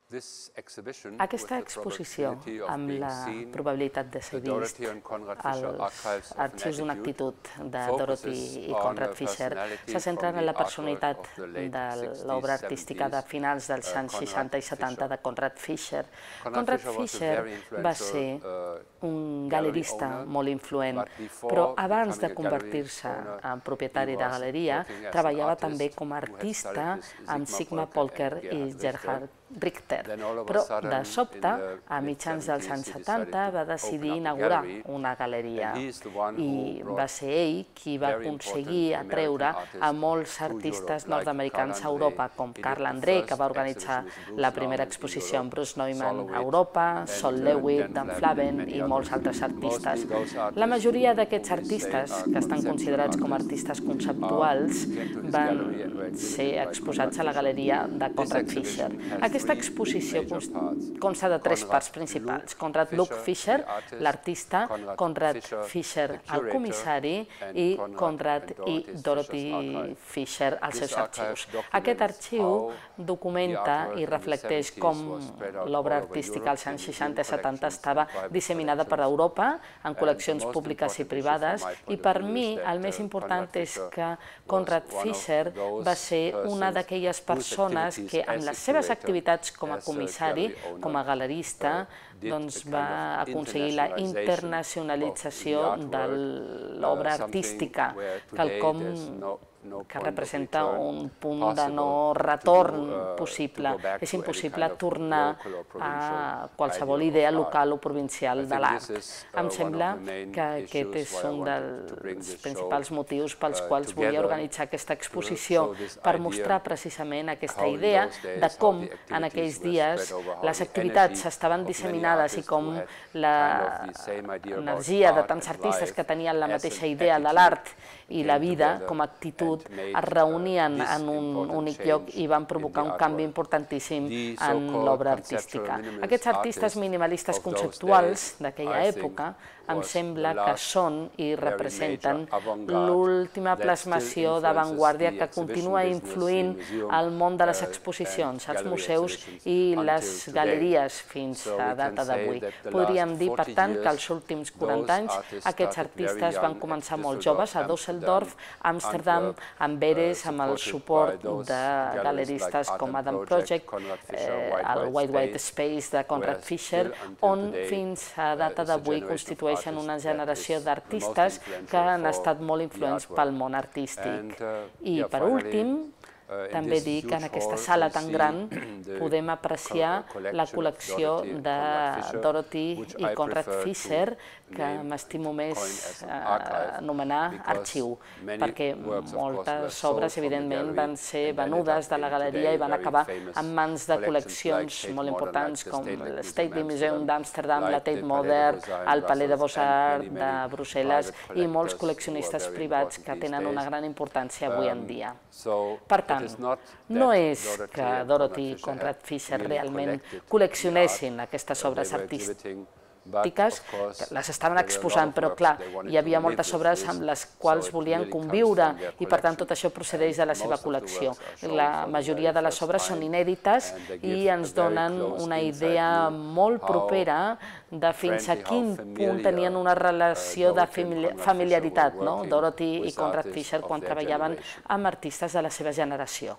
Aquesta exposició, amb la probabilitat de ser vist als arxius d'una actitud de Dorothy i Conrad Fisher, se centra en la personalitat de l'obra artística de finals dels anys 60 i 70 de Conrad Fisher. Conrad Fisher va ser un galerista molt influent, però abans de convertir-se en propietari de galeria, treballava també com a artista amb Sigmund Polker i Gerhard Richter, però de sobte, a mitjans dels anys 70, va decidir inaugurar una galeria i va ser ell qui va aconseguir atreure a molts artistes nord-americans a Europa, com Carl Andre, que va organitzar la primera exposició amb Bruce Neumann a Europa, Sol Lewitt, Dan Flavin i molts altres artistes. La majoria d'aquests artistes, que estan considerats com a artistes conceptuals, van ser exposats a la galeria de Conrad Fisher. Aquesta exposició consta de tres parts principals: Conrad Luke Fisher, l'artista, Conrad Fisher, el comissari, i Conrad i Dorothy Fisher, els seus arxius. Aquest arxiu documenta i reflecteix com l'obra artística als anys 60 i 70 estava disseminada per Europa en col·leccions públiques i privades, i per mi el més important és que Conrad Fisher va ser una d'aquelles persones que amb les seves activitats com a comissari, com a galerista, va aconseguir la internacionalització de l'obra artística, quelcom que representa un punt de no retorn possible. És impossible tornar a qualsevol idea local o provincial de l'art. Em sembla que aquest és un dels principals motius pels quals volia organitzar aquesta exposició, per mostrar precisament aquesta idea de com en aquells dies les activitats estaven disseminades i com l'energia de tants artistes que tenien la mateixa idea de l'art i la vida com a actitud es reunien en un únic lloc i van provocar un canvi importantíssim en l'obra artística. Aquests artistes minimalistes conceptuals d'aquella època em sembla que són i representen l'última plasmació d'avantguàrdia que continua influint al món de les exposicions, als museus i les galeries fins a data d'avui. Podríem dir, per tant, que als últims 40 anys aquests artistes van començar molt joves a Düsseldorf, Amsterdam, amb Beres, amb el suport de galeristes com Adam Project, el White Space de Conrad Fisher, on fins a data d'avui constitueixen una generació d'artistes que han estat molt influents pel món artístic. I per últim, també dir que en aquesta sala tan gran podem apreciar la col·lecció de Dorothy i Conrad Fisher, que m'estimo més anomenar arxiu, perquè moltes obres, evidentment, van ser venudes de la galeria i van acabar en mans de col·leccions molt importants com el State Museum d'Amsterdam, la Tate Modern, el Palais de Beaux-Arts de Brussel·les i molts col·leccionistes privats que tenen una gran importància avui en dia. Per tant, no és que Dorothy i Conrad Fisher realment col·leccionessin aquestes obres artístiques, les estaven exposant, però clar, hi havia moltes obres amb les quals volien conviure i per tant tot això procedeix de la seva col·lecció. La majoria de les obres són inèdites i ens donen una idea molt propera de fins a quin punt tenien una relació de familiaritat, Dorothy i Conrad Fisher, quan treballaven amb artistes de la seva generació.